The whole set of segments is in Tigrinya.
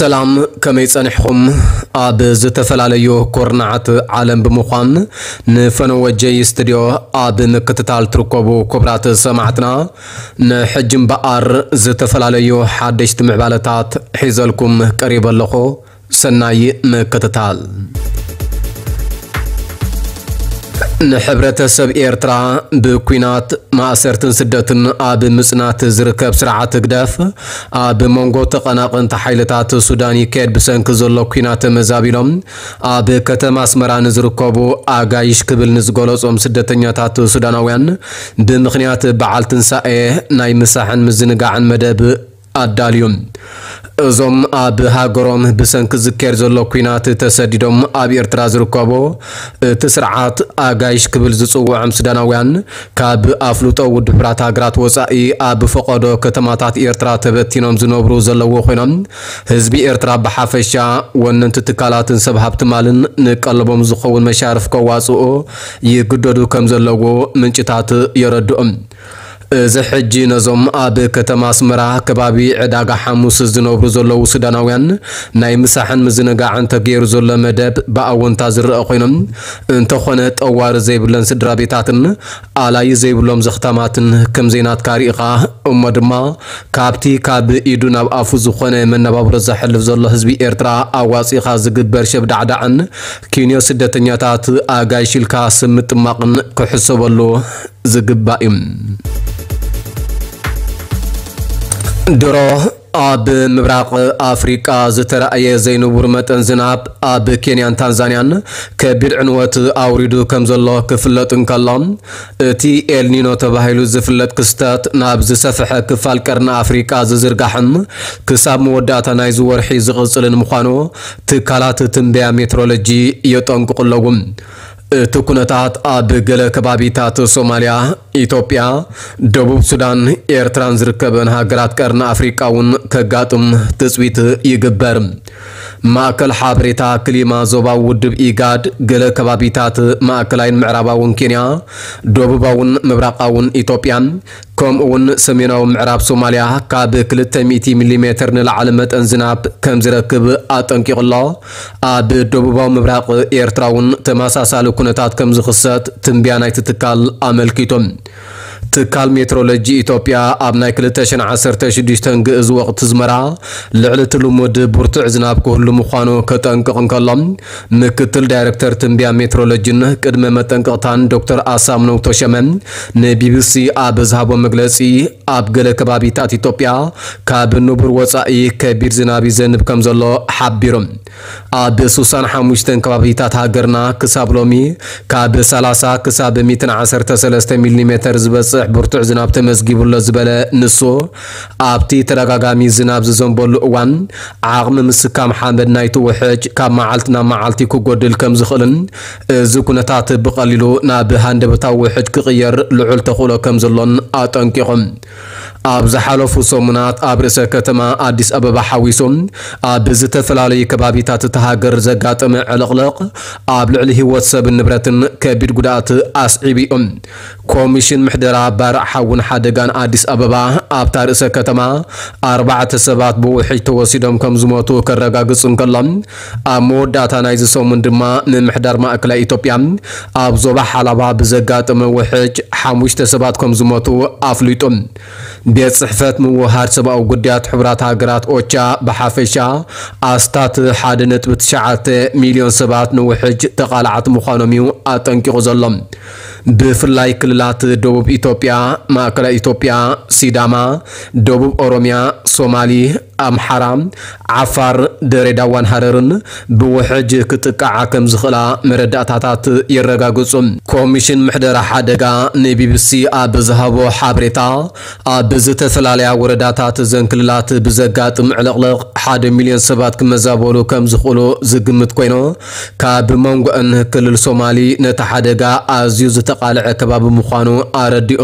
ሰላም፣ ከመይ ጸኒሕኹም? ኣብ ዝተፈላለዩ ኩርናዓት ዓለም ብምዃን ንፈነወ ጀይ ስቱድዮ ኣብ ምክትታል ትርከቡ ክቡራት ሰማዕትና፣ ንሕጂ እምበኣር ዝተፈላለዩ ሓደሽቲ ምዕባለታት ሒዘልኩም ቀሪበ ኣለኹ። ሰናይ ምክትታል። ንሕብረተሰብ ኤርትራ ብኲናት፣ ማእሰርትን ስደትን ኣብ ምጽናት ዝርከብ ስርዓት ህግደፍ፣ ኣብ መንጎ ተቐናቐንቲ ሓይልታት ሱዳን ይካየድ ብሰንኪ ዘሎ ኲናት ተመዛቢሎም ኣብ ከተማ ኣስመራ ንዝርከቡ ኣጋይሽ ክብል ንዝገለጾም ስደተኛታት ሱዳናውያን፣ ብምኽንያት በዓል ትንሳኤ ናይ ምሳሕን ምዝንጋዕን መደብ ኣዳልዩ። እዞም ኣብ ሃገሮም ብሰንኪ ዝካየድ ዘሎ ኲናት ተሰዲዶም ኣብ ኤርትራ ዝርከቡ፣ እቲ ስርዓት ኣጋይሽ ክብል ዝጽውዖም ሱዳናውያን፣ ካብ ኣፍልጦ ውድብ ሕቡራት ሃገራት ወጻኢ ኣብ ፈቐዶ ከተማታት ኤርትራ ተበቲኖም ዝነብሩ ዘለዉ ኮይኖም፣ ህዝቢ ኤርትራ ብሓፈሻ፣ ወነንቲ ትካላትን ሰብ ሃብቲ ማልን ንቀለቦም ዝኸውን መሻርፍ ከዋጽኡ ይግደዱ ከም ዘለዉ ምንጭታት የረድኡ። እዚ ሕጂ ነዞም ኣብ ከተማ ኣስመራ ከባቢ ዕዳጋ ሓሙስ ዝነብሩ ዘለዉ ሱዳናውያን ናይ ምሳሕን ምዝንጋዕን ተገይሩ ዘሎ መደብ ብኣወንታ ዝረኣ ኮይኖም፣ እንተኾነ ጠዋሪ ዘይብለን ስድራ ቤታትን ኣላይ ዘይብሎም ዘኽታማትን ከም ዘይናትካ ርኢኻ እሞ ድማ ካብቲ ካብ ኢዱ ናብ ኣፉ ዝኾነ መነባብሮ ዘሕልፍ ዘሎ ህዝቢ ኤርትራ ኣዋጺኻ ዝግበር ሸብዳዕዳዕን ኪንዮ ስደተኛታት ኣጋይሽ ኢልካ ስም ምጥማቕን ክሕሰበሉ ዝግባእ እዩ። ድሮ ኣብ ምብራቕ ኣፍሪቃ ዝተራእየ ዘይንቡር መጠን ዝናብ ኣብ ኬንያን ታንዛንያን ከቢድ ዕንወት ኣውሪዱ ከም ዘሎ ክፍለጥ እንከሎ፣ እቲ ኤልኒኖ ተባሂሉ ዝፍለጥ ክስተት ናብ ዝሰፍሐ ክፋል ቀርኒ ኣፍሪቃ ዝዝርጋሕን ክሳብ መወዳእታ ናይዚ ወርሒ ዝቕጽልን ምዃኑ ትካላት ትንበያ ሜትሮሎጂ የጠንቅቑ ኣለዉ። እቲ ኩነታት ኣብ ገለ ከባቢታት ሶማልያ፣ ኢትዮጵያ፣ ደቡብ ሱዳን፣ ኤርትራን ዝርከበን ሃገራት ቀርኒ ኣፍሪቃ እውን ከጋጥም ትጽቢት ይግበር። ማእከል ሓበሬታ ክሊማ ዞባዊ ውድብ ኢጋድ፣ ገለ ከባቢታት ማእከላይን ምዕራባውን ኬንያ፣ ደቡባውን ምብራቓውን ኢትዮጵያ፣ ከምኡ እውን ሰሜናዊ ምዕራብ ሶማልያ ካብ ክልተ ሚእቲ ሚሊሜተር ንላዕሊ መጠን ዝናብ ከም ዝረክብ ኣጠንቂቑ ኣሎ። ኣብ ደቡባዊ ምብራቕ ኤርትራ እውን ተመሳሳሊ ኩነታት ከም ዝኽሰት ትንበያ ናይቲ ትካል ኣመልኪቱ። ትካል ሜትሮሎጂ ኢትዮጵያ ኣብ ናይ ክልተ ሽሕን ዓሰርተ ሽዱሽተን ግእዝ ወቕቲ ዝመራ ልዕሊ እቲ ልሙድ ብርቱዕ ዝናብ ክህሉ ምዃኑ ከጠንቅቕ እንከሎ፣ ምክትል ዳይሬክተር ትንበያ ሜትሮሎጂን ቅድመ መጠንቀቕታን ዶክተር ኣሳምነው ተሸመ ንቢቢሲ ኣብ ዝሃቦ መግለጺ፣ ኣብ ገለ ከባቢታት ኢትዮጵያ ካብ ንቡር ወጻኢ ከቢድ ዝናብ ይዘንብ ከም ዘሎ ሓቢሩ። ኣብ ስሳን ሓሙሽተን ከባቢታት ሃገርና ክሳብ ሎሚ ካብ ሰላሳ ክሳብ ሚእትን ዓሰርተ ሰለስተ ሚሊሜተር ዝበጽሕ ብርቱዕ ዝናብ ተመዝጊቡ ኣሎ ዝበለ ንሱ፣ ኣብቲ ተደጋጋሚ ዝናብ ዝዘንበሉ እዋን ዓቕሚ ምስካም ሓመድ ናይቲ ውሕጅ ካብ መዓልቲ ናብ መዓልቲ ክጎድል ከም ዝኽእልን እዚ ኩነታት ብቐሊሉ ናብ ሃንደበታዊ ውሕጅ ክቕየር ልዑል ተኽእሎ ከም ዘሎን ኣጠንቂቑ። ኣብ ዝሓለፉ ሰሙናት ኣብ ርእሰ ከተማ ኣዲስ ኣበባ ሓዊሱ ኣብ ዝተፈላለዩ ከባቢታት እታ ሃገር ዘጋጠመ ዕልቕልቕ ኣብ ልዕሊ ህይወት ሰብን ንብረትን ከቢድ ጉድኣት ኣስዒቡ እዩ። ኮሚሽን ምሕደራ ባርዕ ሓውን ሓደጋን ኣዲስ ኣበባ ኣብታ ርእሰ ከተማ ኣርባዕተ ሰባት ብውሕጅ ተወሲዶም ከም ዝሞቱ ከረጋግጽ እንከሎ፣ ኣብ መወዳእታ ናይዚ ሰሙን ድማ ምምሕዳር ማእከላይ ኢትዮጵያ ኣብ ዞባ ሓላባ ብዘጋጠመ ውሕጅ ሓሙሽተ ሰባት ከም ዝሞቱ ኣፍሊጡ። ቤት ጽሕፈት ምውህሃድ ሰብኣዊ ጉዳያት ሕቡራት ሃገራት ኦቻ ብሓፈሻ ኣስታት ሓደ ነጥቢ ትሽዓተ ሚልዮን ሰባት ንውሕጅ ተቓላዕቲ ምዃኖም እዩ ኣጠንቂቑ ዘሎ። ብፍላይ ክልላት ደቡብ ኢትዮጵያ፣ ማእከላይ ኢትዮጵያ፣ ሲዳማ፣ ደቡብ ኦሮሚያ፣ ሶማሊ፣ ኣምሓራ፣ ዓፋር፣ ድሬዳዋን ሃረርን ብውሕጅ ክጥቃዓ ከም ዝኽእላ መረዳእታታት የረጋግጹ። ኮሚሽን ምሕደራ ሓደጋ ንቢቢሲ ኣብ ዝሃቦ ሓበሬታ፣ ኣብ ዝተፈላለያ ወረዳታት እዘን ክልላት ብዘጋጥም ዕልቕልቕ ሓደ ሚልዮን ሰባት ክመዛበሉ ከም ዝኽእሉ ዝግምት ኮይኑ፣ ካብ መንጎአን ክልል ሶማሊ ነቲ ሓደጋ ኣዝዩ ዝተቓልዐ ከባቢ ምዃኑ ኣረዲኡ።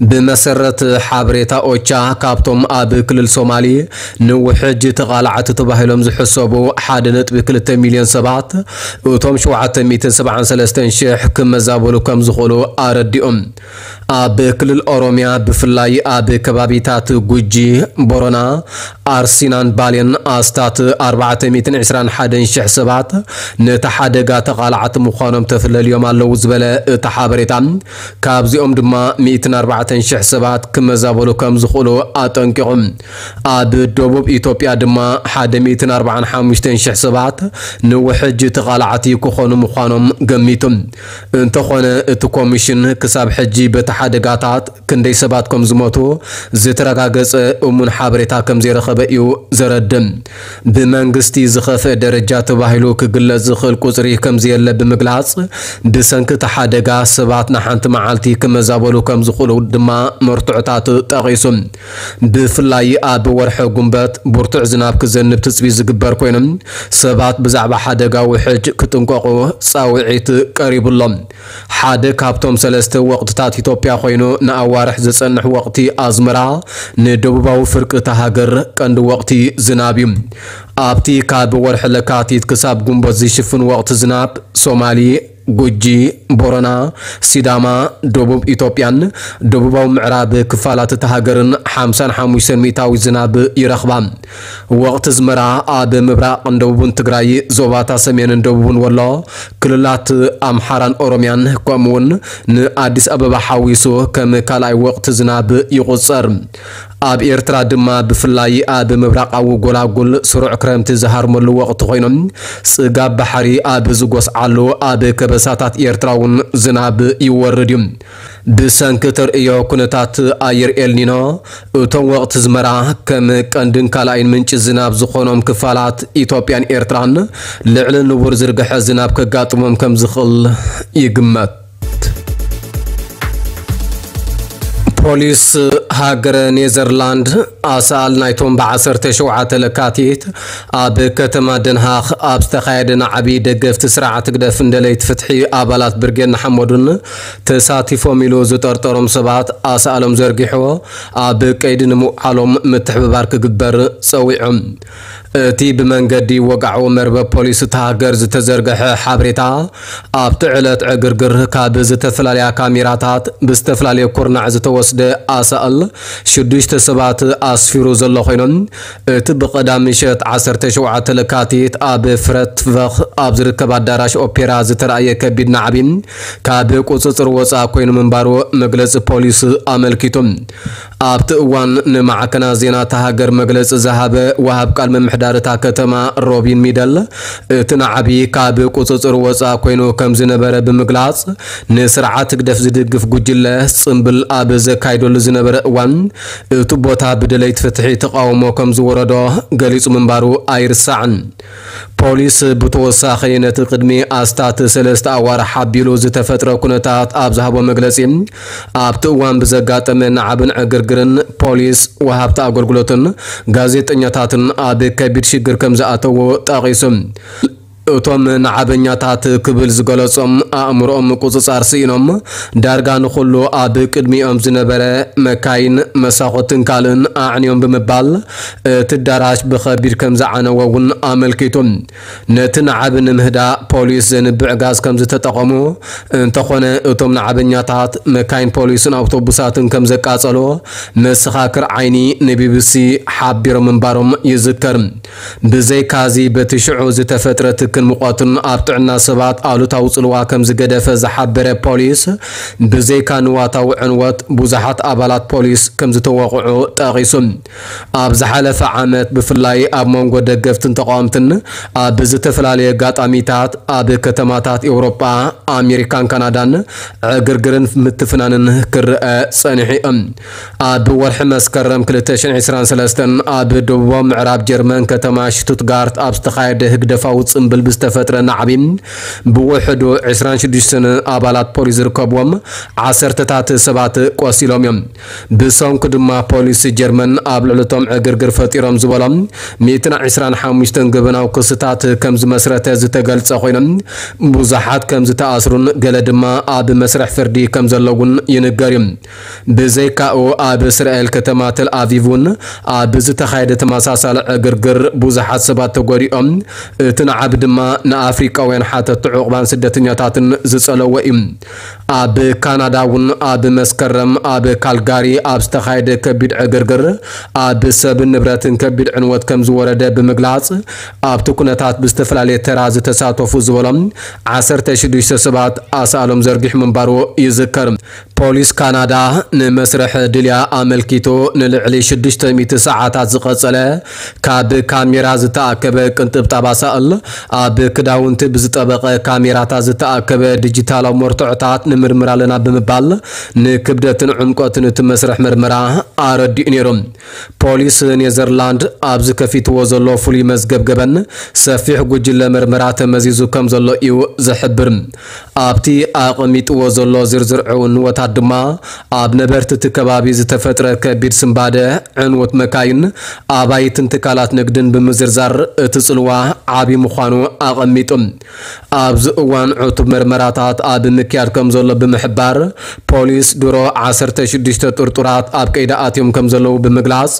ብመሰረት ሓበሬታ ኦቻ፣ ካብቶም ኣብ ክልል ሶማሊ ንውሕጅ ተቓላዕቲ ተባሂሎም ዝሕሰቡ ሓደ ነጥቢ ክልተ ሚልዮን ሰባት፣ እቶም ሸውዓተ ሚእትን ሰብዓን ሰለስተን ሽሕ ክመዛበሉ ከም ዝኽእሉ ኣረዲኦም። ኣብ ክልል ኦሮምያ ብፍላይ ኣብ ከባቢታት ጉጂ፣ ቦረና፣ ኣርሲናን ባሌን ኣስታት ኣርባዕተ ሚእትን ዕስራን ሓደን ሽሕ ሰባት ነቲ ሓደጋ ተቓላዕቲ ምዃኖም ተፍለልዮም ኣለዉ ዝበለ እቲ ሓበሬታ፣ ካብዚኦም ድማ ሚእትን ኣርባዕተን ሽሕ ሰባት ክመዛበሉ ከም ዝኽእሉ ኣጠንቂቑ። ኣብ ደቡብ ኢትዮጵያ ድማ ሓደ ሚእትን ኣርባዓን ሓሙሽተን ሽሕ ሰባት ንውሕጅ ተቓላዕቲ ክኾኑ ምዃኖም ገሚቱ። እንተኾነ እቲ ኮሚሽን ክሳብ ሕጂ በቲ ሓደጋታት ክንደይ ሰባት ከም ዝሞቱ ዝተረጋገጸ እሙን ሓበሬታ ከም ዘይረኸበ እዩ ዘረድእ። ብመንግስቲ ዝኸፍአ ደረጃ ተባሂሉ ክግለጽ ዝኽእል ቁጽሪ ከም ዘየለ ብምግላጽ፣ ብሰንኪ እቲ ሓደጋ ሰባት ንሓንቲ መዓልቲ ክመዛበሉ ከም ዝኽእሉ ድማ መርትዖታት ጠቒሱ። ብፍላይ ኣብ ወርሒ ጉንበት ብርቱዕ ዝናብ ክዘንብ ትጽቢት ዝግበር ኮይኑ፣ ሰባት ብዛዕባ ሓደጋ ውሕጅ ክጥንቀቑ ጻውዒት ቀሪቡሎም። ሓደ ካብቶም ሰለስተ ወቕትታት ኢትዮጵያ ኮይኑ፣ ንኣዋርሕ ዝጸንሕ ወቕቲ ኣዝመራ ንደቡባዊ ፍርቂ እታ ሃገር ቀንዲ ወቕቲ ዝናብ እዩ። ኣብቲ ካብ ወርሒ ለካቲት ክሳብ ጉንበት ዝሽፍን ወቕቲ ዝናብ፣ ሶማሊ፣ ጉጂ፣ ቦረና፣ ሲዳማ፣ ደቡብ ኢትዮጵያን ደቡባዊ ምዕራብ ክፋላት እታ ሃገርን ሓምሳን ሓሙሽተን ሚእታዊ ዝናብ ይረኽባ። ወቕቲ ኣዝመራ ኣብ ምብራቕን ደቡብን ትግራይ፣ ዞባታ ሰሜንን ደቡብን ወሎ፣ ክልላት ኣምሓራን ኦሮምያን፣ ከምኡውን ንኣዲስ ኣበባ ሓዊሱ ከም ካልኣይ ወቕቲ ዝናብ ይቑጸር። ኣብ ኤርትራ ድማ ብፍላይ ኣብ ምብራቓዊ ጎላጉል ስሩዕ ክረምቲ ዝሃርመሉ ወቕቲ ኮይኖም፣ ጽጋብ ባሕሪ ኣብ ዝጎስዓሉ ኣብ ከበሳታት ኤርትራ እውን ዝናብ ይወርድ እዩ። ብሰንኪ ተርእዮ ኩነታት ኣየር ኤልኒኖ፣ እቶም ወቕቲ ኣዝመራ ከም ቀንድን ካልኣይን ምንጪ ዝናብ ዝኾኖም ክፋላት ኢትዮጵያን ኤርትራን ልዕሊ ንቡር ዝርግሐ ዝናብ ከጋጥሞም ከም ዝኽእል ይግመት። ፖሊስ ሃገረ ኔዘርላንድ ኣሳእል ናይቶም ብ ዓሰርተ ሸውዓተ ለካቲት ኣብ ከተማ ደንሃኽ ኣብ ዝተኻየደ ናዕቢ ደገፍቲ ስርዓት ህግደፍን ደለይቲ ፍትሒ ኣባላት ብርጌድ ንሓመዱን ተሳቲፎም ኢሉ ዝጠርጠሮም ሰባት ኣሳእሎም ዘርጊሑ ኣብ ቀይዲ ንምውዓሎም ምትሕብባር ክግበር ጸዊዑ። እቲ ብመንገዲ ወግዓዊ መርበብ ፖሊስ እታ ሃገር ዝተዘርግሐ ሓበሬታ፣ ኣብቲ ዕለት ዕግርግር ካብ ዝተፈላለያ ካሜራታት ብዝተፈላለየ ኩርናዕ ዝተወስደ ኣሳእል ሽዱሽተ ሰባት ኣስፊሩ ዘሎ ኮይኖም፣ እቲ ብቐዳም ምሸት ዓሰርተ ሸውዓተ ለካቲት ኣብ ፍረትቨኽ ኣብ ዝርከብ ኣዳራሽ ኦፔራ ዝተራእየ ከቢድ ናዕቢ ካብ ቁጽጽር ወጻኢ ኮይኑ ምንባሩ መግለጺ ፖሊስ ኣመልኪቱ። ኣብቲ እዋን ንማዕከናት ዜና እታ ሃገር መግለጺ ዝሃበ ወሃብ ቃል ምምሕዳር እታ ከተማ ሮቢን ሚደል፣ እቲ ናዕቢ ካብ ቁጽጽር ወጻኢ ኮይኑ ከም ዝነበረ ብምግላጽ፣ ንስርዓት ህግደፍ ዝድግፍ ጉጅለ ጽምብል ኣብ ዘካይደሉ ዝነበረ እዋን፣ እቲ ቦታ ብደለይቲ ፍትሒ ተቓውሞ ከም ዝወረዶ ገሊጹ ምንባሩ ኣይርሳዕን። ፖሊስ ብተወሳኺ ነቲ ቅድሚ ኣስታት ሰለስተ ኣዋርሕ ሓቢሉ ዝተፈጥረ ኩነታት ኣብ ዝሃቦ መግለጺ፣ ኣብቲ እዋን ብዘጋጠመ ናዕብን ዕግርግርን ፖሊስ፣ ወሃብቲ ኣገልግሎትን ጋዜጠኛታትን ኣብ ከቢድ ሽግር ከም ዝኣተዎ ጠቒሱ። እቶም ናዕበኛታት ክብል ዝገለጾም ኣእምሮኦም ምቁጽጻር ስኢኖም፣ ዳርጋ ንኹሉ ኣብ ቅድሚኦም ዝነበረ መካይን፣ መሳኹትን ካልእን ኣዕንዮም ብምባል፣ እቲ ኣዳራሽ ብኸቢድ ከም ዝዓነወ እውን ኣመልኪቱ። ነቲ ናዕቢ ንምህዳእ ፖሊስ ዘንብዕ ጋዝ ከም ዝተጠቐሙ፣ እንተኾነ እቶም ናዕበኛታት መካይን ፖሊስን ኣውቶቡሳትን ከም ዘቃጸሉ መሰኻክር ዓይኒ ንቢቢሲ ሓቢሮም ምንባሮም ይዝከር። ብዘይካዚ በቲ ሽዑ ዝተፈጥረ ትክን ሙቐትን ኣብ ጥዕና ሰባት ኣሉታዊ ጽልዋ ከም ዝገደፈ ዝሓበረ ፖሊስ፣ ብዘይካ ንዋታዊ ዕንወት ብዙሓት ኣባላት ፖሊስ ከም ዝተወቕዑ ጠቒሱ። ኣብ ዝሓለፈ ዓመት ብፍላይ ኣብ መንጎ ደገፍትን ተቓወምትን ኣብ ዝተፈላለየ ኣጋጣሚታት ኣብ ከተማታት ኤውሮጳ፣ ኣሜሪካን ካናዳን ዕግርግርን ምትፍናንን ክረአ ጸኒሑ እዩ። ኣብ ወርሒ መስከረም ክልተ ሽሕን ዕስራን ሰለስተን ኣብ ደቡባዊ ምዕራብ ጀርመን ከተማ ሽቱትጋርት ኣብ ዝተኻየደ ህግደፋዊ ጽምብል ብዝተፈጥረ ናዕቢ ብውሕዱ ዕስራን ሽዱሽተን ኣባላት ፖሊስ ዝርከብዎም ዓሰርተታት ሰባት ቆሲሎም እዮም። ብሰንኩ ድማ ፖሊስ ጀርመን ኣብ ልዕሊ እቶም ዕግርግር ፈጢሮም ዝበሎም ሚእትን ዕስራን ሓሙሽተን ገበናዊ ክስታት ከም ዝመስረተ ዝተገልጸ ኮይኖም፣ ብዙሓት ከም ዝተኣስሩን ገለ ድማ ኣብ መስርሕ ፍርዲ ከም ዘለውን ይንገር እዩ። ብዘይካኡ ኣብ እስራኤል ከተማ ተል ኣቪቭ እውን ኣብ ዝተኻየደ ተመሳሳሊ ዕግርግር ብዙሓት ሰባት ተጎዲኦም፣ እቲ ናዕቢ ድማ ንኣፍሪቃውያን ሓተቲ ዕቑባን ስደተኛታትን ዝጸለወ እዩ። ኣብ ካናዳ እውን ኣብ መስከረም ኣብ ካልጋሪ ኣብ ዝተኻየደ ከቢድ ዕግርግር ኣብ ሰብን ንብረትን ከቢድ ዕንወት ከም ዝወረደ ብምግላጽ፣ ኣብቲ ኩነታት ብዝተፈላለየ ተራ ዝተሳተፉ ዝበሎም ዓሰርተ ሽዱሽተ ሰባት ኣሳእሎም ዘርጊሑ ምንባሩ ይዝከር። ፖሊስ ካናዳ ንመስርሕ ድልያ ኣመልኪቱ ንልዕሊ ሽዱሽተ ሚእቲ ሰዓታት ዝቐጸለ ካብ ካሜራ ዝተኣከበ ቅንጥብጣብ ኣሳእል፣ ኣብ ክዳውንቲ ብዝጠበቐ ካሜራታት ዝተኣከበ ዲጂታላዊ መርትዖታት ንምርምር ኣለና ብምባል፣ ንክብደትን ዕምቆትን እቲ መስርሕ ምርመራ ኣረዲኡ ነይሩ። ፖሊስ ኔዘርላንድ ኣብዚ ከፊትዎ ዘሎ ፍሉይ መዝገብ ገበን፣ ሰፊሕ ጉጅለ ምርመራ ተመዚዙ ከም ዘሎ እዩ ዝሕብር። ኣብቲ ኣቐሚጥዎ ዘሎ ዝርዝር ዕንወታት ድማ፣ ኣብ ነበርቲ እቲ ከባቢ ዝተፈጥረ ከቢድ ስንባደ፣ ዕንወት መካይን፣ ኣባይትን ትካላት ንግድን ብምዝርዛር፣ እቲ ጽልዋ ዓቢ ምዃኑ ኣቐሚጡ። ኣብዚ እዋን ዕቱብ መርመራታት ኣብ ምክያድ ከም ዘሎ ብምሕባር፣ ፖሊስ ድሮ ዓሰርተ ሽዱሽተ ጥርጡራት ኣብ ቀይዲ ኣትዮም ከም ዘለዉ ብምግላጽ፣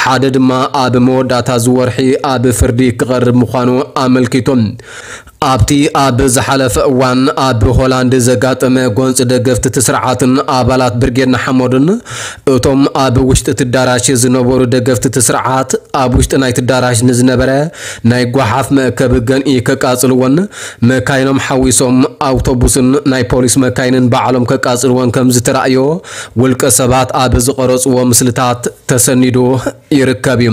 ሓደ ድማ ኣብ መወዳእታ እዚ ወርሒ ኣብ ፍርዲ ክቐርብ ምዃኑ ኣመልኪቱ። ኣብቲ ኣብ ዝሓለፈ እዋን ኣብ ሆላንድ ዘጋጠመ ጎንጺ ደገፍቲ እቲ ስርዓትን ኣባላት ብርጌድ ንሓመዱን፣ እቶም ኣብ ውሽጢ እቲ ኣዳራሽ ዝነበሩ ደገፍቲ እቲ ስርዓት፣ ኣብ ውሽጢ ናይቲ ኣዳራሽ ንዝነበረ ናይ ጓሓፍ መእከቢ ገንኢ ከቃጽልዎን፣ መካይኖም ሓዊሶም ኣውቶቡስን ናይ ፖሊስ መካይንን ባዕሎም ከቃጽልዎን ከም ዝተራእዮ ውልቀ ሰባት ኣብ ዝቐረጽዎ ምስልታት ተሰኒዱ ይርከብ እዩ።